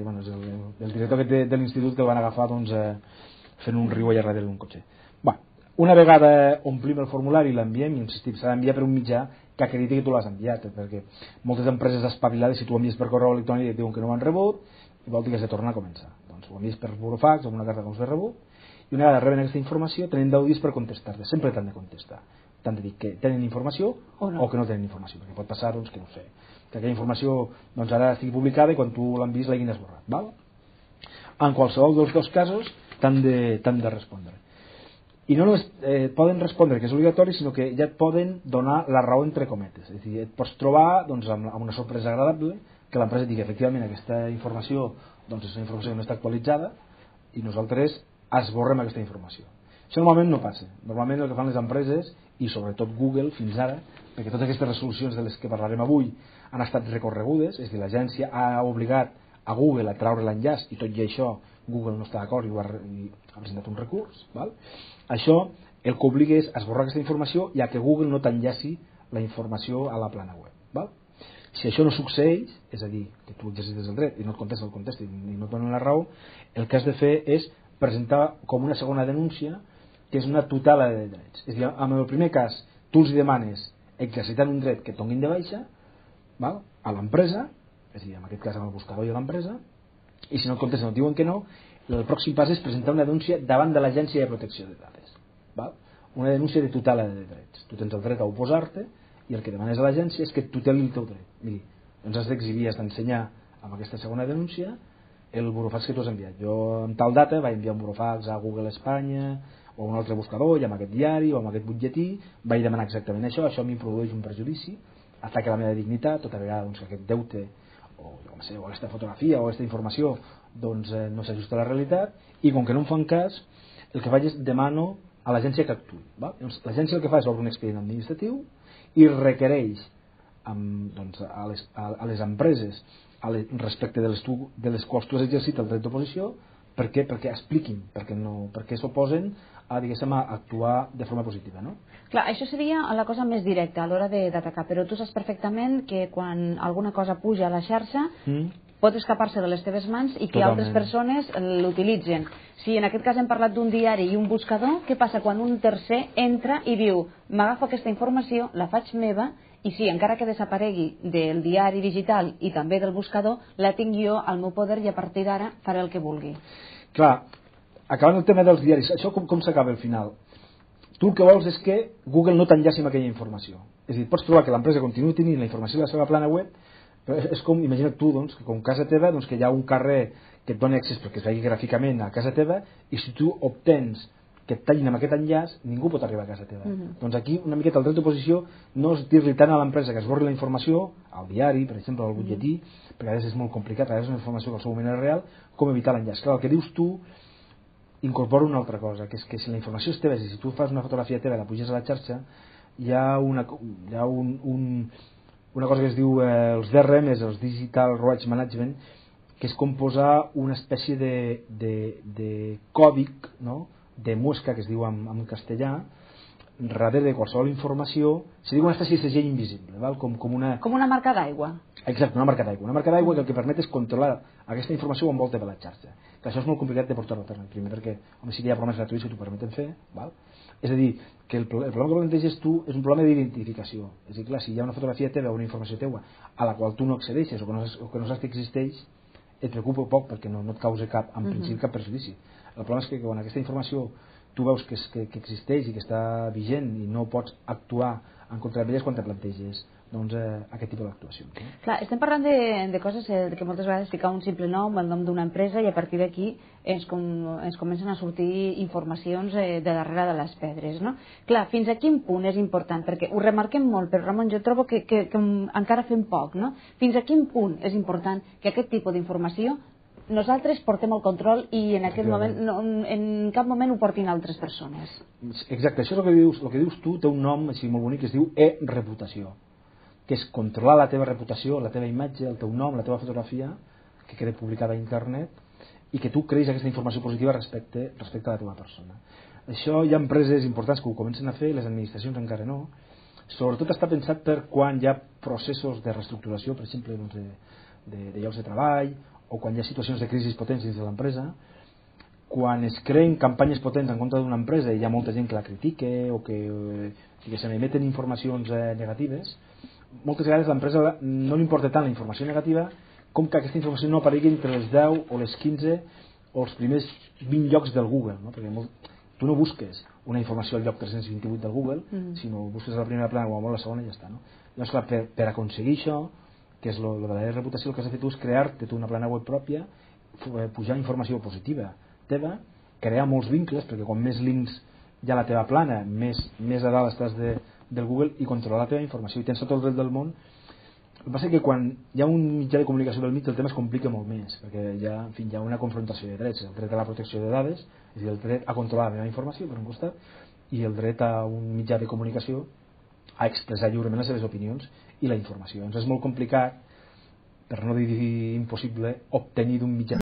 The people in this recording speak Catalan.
bueno, és el director de l'institut que el van agafar doncs, fent un riu allà darrere d'un cotxe. Una vegada omplim el formulari i l'enviem, insistim, s'ha d'enviar per un mitjà que acrediti que tu l'has enviat, perquè moltes empreses espavilades, si tu ho envies per correu electrònic, et diuen que no ho han rebut i vol dir que has de tornar a començar. Doncs ho envies per burofax o amb una carta com s'ha rebut, i una vegada reben aquesta informació tenen 10 dies per contestar-te. Sempre t'han de contestar, t'han de dir que tenen informació o que no tenen informació, perquè pot passar doncs, que no sé, que aquella informació doncs, ara estigui publicada i quan tu l'envies l'hagin esborrat, val? En qualsevol dels dos casos t'han de respondre, i no només poden respondre que és obligatori, sinó que ja et poden donar la raó entre cometes. És a dir, et pots trobar doncs, amb una sorpresa agradable que l'empresa digui efectivament aquesta informació doncs, és una informació que no està actualitzada i nosaltres esborrem aquesta informació. Això normalment no passa. Normalment el que fan les empreses, i sobretot Google fins ara, perquè totes aquestes resolucions de les que parlarem avui han estat recorregudes, és a dir, l'agència ha obligat a Google a traure l'enllaç i tot i això Google no està d'acord i ha presentat un recurs, val? Això el que obliga és a esborrar aquesta informació i a que Google no t'enllaci la informació a la plana web, val? Si això no succeeix, és a dir, que tu exercites el dret i no et contesti i no et donen la raó, el que has de fer és presentar com una segona denúncia que és una tutela de drets. És a dir, en el primer cas tu els demanes exercitant un dret que et donin de baixa, val? A l'empresa, és a dir, en aquest cas amb el buscador i a l'empresa, i si no et contesten o et diuen que no, el pròxim pas és presentar una denúncia davant de l'Agència de Protecció de Dades, val? Una denúncia de tutela de drets. Tu tens el dret a oposar-te i el que demanes a l'agència és que et tuteli el teu dret. Miri, ens has d'exhibir, has d'ensenyar amb aquesta segona denúncia el burofax que tu has enviat. Jo en tal data vaig enviar un burofax a Google Espanya o a un altre buscador i amb aquest diari o amb aquest butlletí vaig demanar exactament això, això a mi em produeix un perjudici, ataca la meva dignitat, tota vegada doncs, que aquest deute o aquesta fotografia o aquesta informació doncs, no s'ajusta a la realitat, i com que no em fan cas, el que faig és demano a l'agència que actuï. L'agència el que fa és obre un expedient administratiu i requereix doncs, a les empreses respecte de les quals tu has exercit el dret d'oposició perquè expliquin, perquè s'oposen a actuar de forma positiva, no? Clar, això seria la cosa més directa a l'hora d'atacar, però tu saps perfectament que quan alguna cosa puja a la xarxa pot escapar-se de les teves mans i que altres persones l'utilitzen. Si en aquest cas hem parlat d'un diari i un buscador, què passa quan un tercer entra i diu m'agafo aquesta informació, la faig meva i sí, encara que desaparegui del diari digital i també del buscador, la tinc jo al meu poder i a partir d'ara faré el que vulgui. Clar, acabant el tema dels diaris, això com s'acaba al final? Tu el que vols és que Google no t'enllaci amb aquella informació. És a dir, pots trobar que l'empresa continuï tenint la informació de la seva plana web, però és com, imagina't tu, doncs, que com casa teva doncs, que hi ha un carrer que et doni accés perquè es vegi gràficament a casa teva i si tu obtens que et tallin amb aquest enllaç, ningú pot arribar a casa teva. Doncs aquí una miqueta el dret d'oposició no és dir-li tant a l'empresa que esborri la informació, al diari, per exemple, al butlletí, perquè a vegades és molt complicat, a vegades és una informació que al seu moment és real, com evitar l'enllaç. Clar, el que dius tu incorpora una altra cosa, que és que si la informació és teva, si tu fas una fotografia teva i la puges a la xarxa, hi ha una cosa que es diu els DRMs, els Digital Rights Management, que és com posar una espècie de còdic, no?, de mosca, que es diu en castellà, darrere de qualsevol informació, se diu una espècie de segell invisible, val? Com una marca d'aigua. Exacte, una marca d'aigua. Una marca d'aigua que el que permet és controlar aquesta informació que envolta per la xarxa. Que això és molt complicat de portar-ho a terme, primer perquè home, sí que hi ha programes gratuïts que t'ho permeten fer, val? És a dir, que el problema que planteges tu és un problema d'identificació. És a dir, clar, si hi ha una fotografia teva o una informació teua a la qual tu no accedeixes o que no saps que existeix, et preocupa poc perquè no et causa en principi cap perjudici. El problema és que quan aquesta informació tu veus que existeix i que està vigent i no pots actuar en contra d'elles quan te planteges doncs, aquest tipus d'actuació. Clar, estem parlant de coses que moltes vegades ficar un simple nom, el nom d'una empresa i a partir d'aquí ens comencen a sortir informacions de darrere de les pedres, no? Clar, fins a quin punt és important? Perquè ho remarquem molt, però Ramon, jo trobo que encara fem poc, no? Fins a quin punt és important que aquest tipus d'informació nosaltres portem el control i en aquest moment en cap moment ho portin altres persones? Exacte, això és el que dius tu, té un nom així molt bonic que es diu e-reputació, que és controlar la teva reputació, la teva imatge, el teu nom, la teva fotografia que queda publicada a internet i que tu creïs aquesta informació positiva respecte a la teva persona. Això hi ha empreses importants que ho comencen a fer, les administracions encara no. Sobretot està pensat per quan hi ha processos de reestructuració, per exemple, de llocs de treball o quan hi ha situacions de crisi potents dins de l'empresa, quan es creen campanyes potents en contra d'una empresa i hi ha molta gent que la critique o que se n'emeten informacions negatives, moltes vegades a l'empresa no li importa tant la informació negativa com que aquesta informació no aparegui entre les 10 o les 15 o els primers 20 llocs del Google, no? Perquè tu no busques una informació al lloc 328 del Google, sinó busques a la primera plana o a la segona i ja està, no? Llavors, clar, per aconseguir això, que és la verdadera reputació, el que has de fer tu és crear-te una plana web pròpia, pujar informació positiva teva, crear molts vincles, perquè quan més links hi ha a la teva plana, més a dalt estàs del Google, i controlar la teva informació, i tens tot el dret del món. El que passa és que quan hi ha un mitjà de comunicació del mig, el tema es complica molt més, perquè hi ha una confrontació de drets, el dret a la protecció de dades, és a dir, el dret a controlar la meva informació per un costat, i el dret a un mitjà de comunicació a expressar lliurement les seves opinions i la informació. Doncs és molt complicat, per no dir impossible, obtenir d'un mitjà